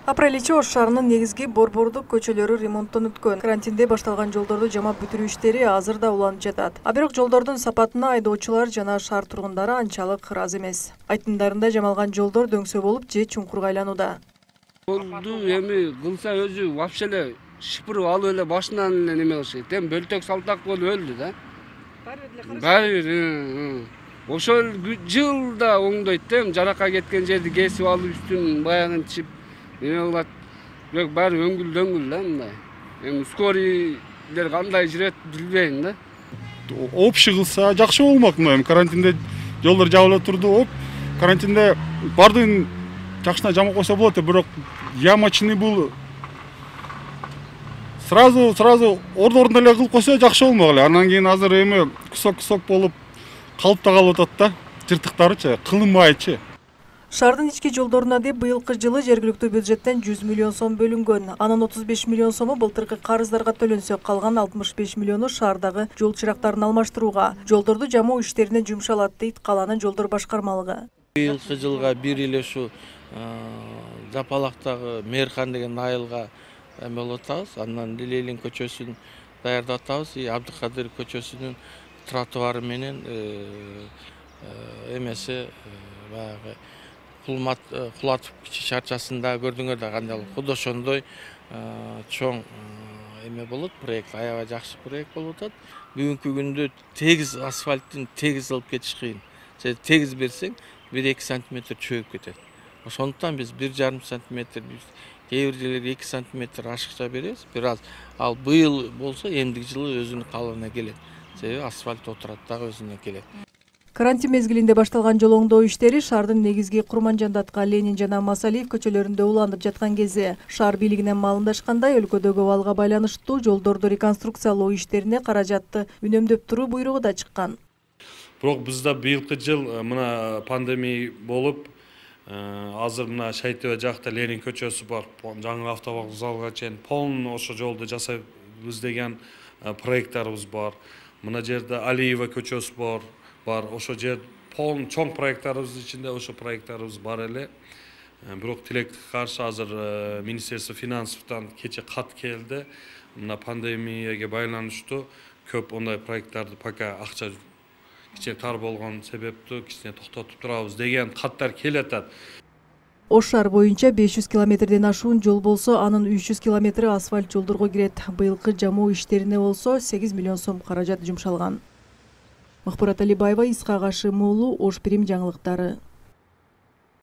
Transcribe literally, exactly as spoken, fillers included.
Апрель ичи Ош шаарынын негизги борбордук көчөлөрү ремонттон өткөн. Карантинде башталган жолдорду жамап бүтүрүү иштери азыр да уланып жатат. А бирок жолдордун сапатына айдоочулар жана шаар тургундары анчалык ыраазы эмес. Айтымдарында жамалган жолдор дөңсө болуп же чуңкурга айланууда. Жолду эми кылса өзү вообще эле шыпырып алып эле башынан эле неме кылыш керек. Эми бөлтөк салтак болуп өлдү да. Баары бир ошол жылда оңдойт да, жаракка кеткен жерди кесип алып үстүн баягынчып неме кылат. Бирок баары өңгүл дөңгүл да мындай. Эми скорийлер кандай жүрөт билбейм да. Общий кылса жакшы болмок. Эми карантинде жолдор жабыла турду. Оп, карантинде бардыгын жакшына жамап койсо болот, бирок ямочный бул сразу сразу ордо-ордуна эле кылып койсо жакшы болмок эле. Андан кийин азыр эми кусок-кусок болуп калыпта калып атат да. Жыртыктарычы, кылынмайчы. Шаардын ички жолдоруна деп быйылкы жылы жергиликтүү бюджеттен жүз миллион сом бөлүнгөн. Анын отуз беш миллион сому былтыркы карыздарга төлөнсө, калган алтымыш беш миллиону шаардагы жол чырактарын алмаштырууга, жолдорду жамоо иштерине жумшалат дейт калаанын жолдор башкармалыгы. Быйылкы жылга бир эле ушу Жапалактагы Мээрхан деген айылга эме болуп атабыз. Андан Лилейлин көчөсүн даярдап атабыз. Абдыкадыр көчөсүнүн тротуары менен эмеси баягы Кулмат Кулатов кичи шарчасында көрдүңөр да кандай кудо ошондой чоң эме болот, проект аябай жакшы проект болуп атат. Бүгүнкү күндө тегиз асфальттын тегиз алып кетиш кыйын. Же тегиз берсең бир эки сантиметр чөгүп кетет. Ошондуктан биз бир жарым сантиметр, кээ бир жерлерге эки сантиметр ашыкча беребиз. Бир аз ал быйыл болсо эмдиги жылы өзүнүн калыбына келет. Себеби асфальт отурат дагы өзүнө келет. Карантин мезгилинде башталган жол оңдоо иштери шаардын негизги Курманжандатка, Ленин жана Масалиев көчөлөрүндө уланып жаткан кезде шаар бийлигинен маалымдашкандай, өлкөдөгү абалга байланыштуу жолдорду реконструкциялоо иштерине каражатты үнөмдөп туруу буйругу да чыккан. Бирок бизде быйылкы жыл мына пандемия болуп, азыр мына Шайтөбө жакта Ленин көчөсү бар, жаңы автовокзалга чейин полный ошо жолду жасайбыз деген проекттарыбыз бар. Мына жерде Алиева көчөсү бар. Бар, ошо жер полный чоң проекттарыбыз ичинде ошо проекттарыбыз бар эле. Бирок тилекке каршы азыр Министерство финансовтан кече кат келди. Мына пандемияга байланыштуу көп ондай проекттарды пока акча кичине тар болгон себептүү кичине токтотуп турабыз деген каттар келатат. Ош шаар боюнча беш жүз километрден ашуун жол болсо, анын үч жүз километри асфальт жолдорго кирет. Быйылкы жамоо иштерине болсо сегиз миллион сом каражат жумшалган. Махбурат Алибаева, Исхак Ашим уулу, Ош Прим жаңылыктары.